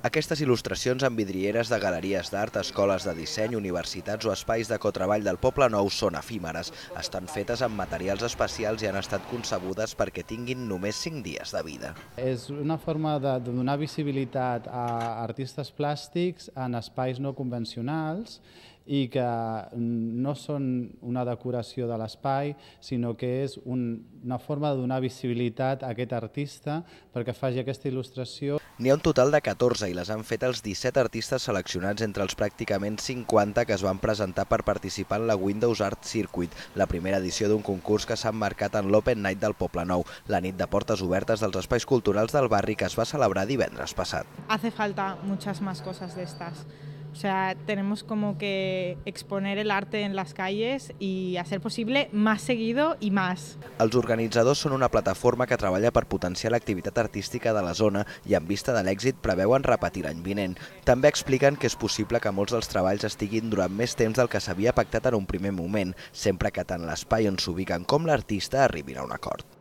Aquestes il·lustracions amb vidrieres de galeries d'art, escoles de disseny, universitats o espais de cotreball del Poble Nou són efímeres. Estan fetes amb materials especials i han estat concebudes perquè tinguin només 5 dies de vida. És una forma de donar visibilitat a artistes plàstics en espais no convencionals i que no són una decoració de l'espai, sinó que és una forma de donar visibilitat a aquest artista perquè faci aquesta il·lustració. N'hi ha un total de 14 i les han fet els 17 artistes seleccionats entre els pràcticament 50 que es van presentar per participar en la Windows Art Circuit, la primera edició d'un concurs que s'ha emmarcat en l'Open Night del Poble Nou, la nit de portes obertes dels espais culturals del barri que es va celebrar divendres passat. Hace falta muchas más cosas de estas. O sea, tenemos como que exponer el arte en las calles y, a ser posible, más seguido y más. Els organitzadors són una plataforma que treballa per potenciar l'activitat artística de la zona i en vista de l'èxit preveuen repetir l'any vinent. També expliquen que és possible que molts dels treballs estiguin durant més temps del que s'havia pactat en un primer moment, sempre que tant l'espai on s'ubiquen com l'artista arribin a un acord.